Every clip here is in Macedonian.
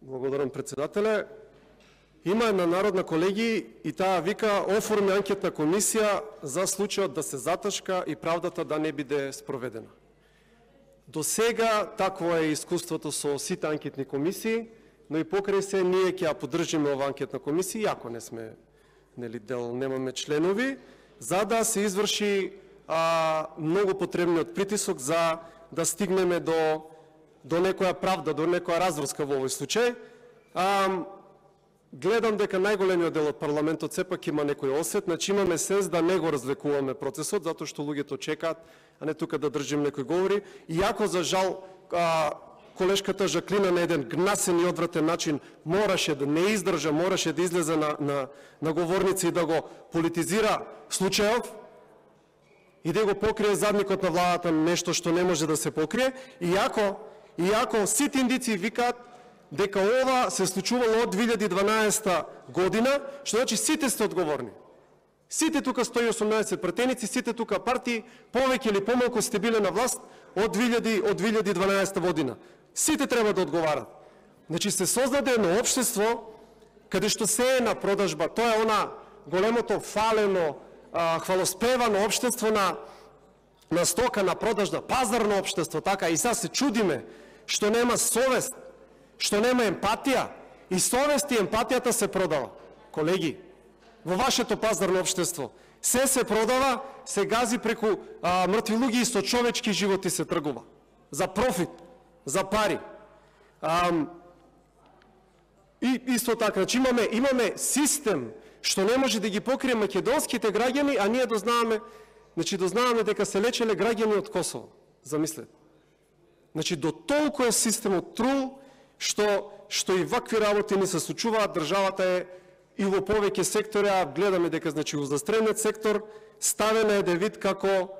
Благодарам, председателе. Има една народна, колеги, и таа вика оформи анкетна комисија за случајот да се заташка и правдата да не биде спроведена. До сега такво е искуството со сите анкетни комисии, но и покрај се ние ќе ја поддржиме ова анкетна комисија, иако не сме дел, немаме членови, за да се изврши многу потребниот притисок за да стигнеме до некоја правда, до некоја разврска во овој случај. Гледам дека најголемиот дел од парламентот сепак има некој осет, значи имаме сенс да не го развлекуваме процесот, затоа што луѓето чекаат, а не тука да држим некои говори. Иако за жал колешката Жаклина на еден гнасен и одвратен начин мораше да не издржа, мораше да излезе на говорница и да го политизира случајов и да го покрие задникот на владата, нешто што не може да се покрие, иако сите индици викаат дека ова се случувало од 2012 година, што значи сите сте одговорни. Сите тука 118 пратеници, сите тука партии, повеќе или помалку сте биле на власт од 2012 година. Сите треба да одговарат. Значи се создаде едно општество каде што се е на продажба. Тоа е она големото фалено, хвалоспевано општество на стока, на продажба, пазарно општество, така, и сега се чудиме што нема совест, што нема емпатија, и совест и емпатијата се продава. Колеги, во вашето пазарно општество се продава, се гази преку мртви луѓе и со човечки животи се тргува. За профит, за пари. И исто така, значи имаме систем што не може да ги покрие македонските граѓани, а ние дознаваме дека се лечеле граѓани од Косово. Замислете. Значи до толку е системот трул, што и вакви работи не се случуваат. Државата е и во повеќе сектори, а гледаме дека во застрелниот сектор ставена е вид како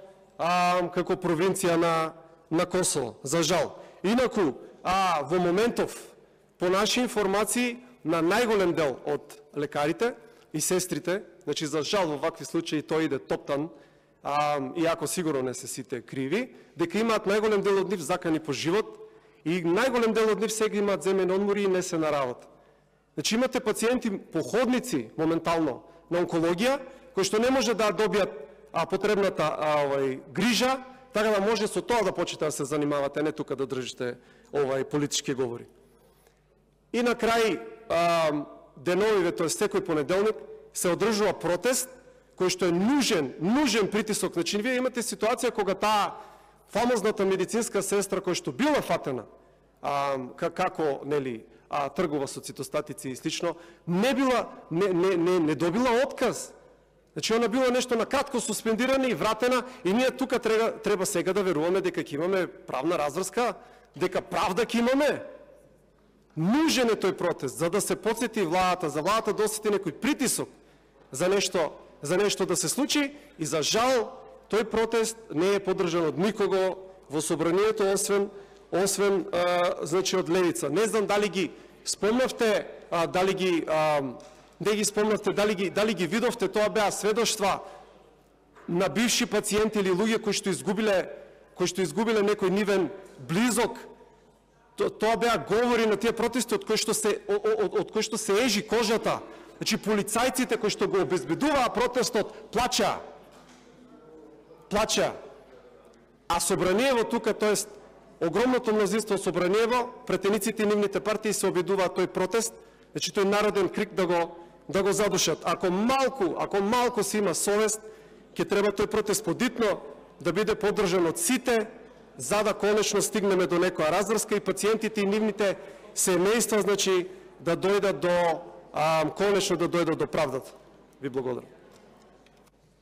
провинција на Косово, за жал. Инаку, во моментов, по наши информации, на најголем дел од лекарите и сестрите, значи за жал во вакви случаи тој иде топтан, иако сигурно не се сите криви, дека имаат најголем дел од нив закани по живот и најголем дел од нив сега имаат земени одмори и не се на работа. Значи имате пациенти, походници моментално на онкологија, кои што не може да добијат потребната грижа, така да може со тоа да почнете да се занимавате, не тука да држите политички говори. И на крај деновиве, тоест секој понеделник, се одржува протест, кој што е нужен притисок. Значи, вие имате ситуација кога таа фамозната медицинска сестра, која што била фатена, како, тргува со цитостатици и слично, не добила отказ. Значи, она била нешто на кратко суспендирана и вратена, и ние тука треба сега да веруваме дека ќе имаме правна разврска, дека правда ќе имаме. Нужен е тој протест, за да се потсети владата, за владата да осети некој притисок за нешто да се случи, и за жал тој протест не е поддржан од никого во собранието, освен од левица. Не знам дали ги спомнавте, дали ги видовте, тоа беа сведоштва на бивши пациенти или луѓе кои што изгубиле некој нивен близок. Тоа беа говори на тие протести од кои што се ежи кожата. Значи, полицајците кои што го обезбедуваа протестот плачаа. А Собраниево тука, тоест огромното мнозинство Собраниево, претениците и нивните партии се обидуваат тој протест, значи тој народен крик да го задушат. Ако малку си има совест, ќе треба тој протест подитно да биде поддржан од сите, за да конечно стигнеме до некоја разврска и пациентите и нивните семејства, значи, да дојдат конечно да дојдат до правдата. Ви благодарам.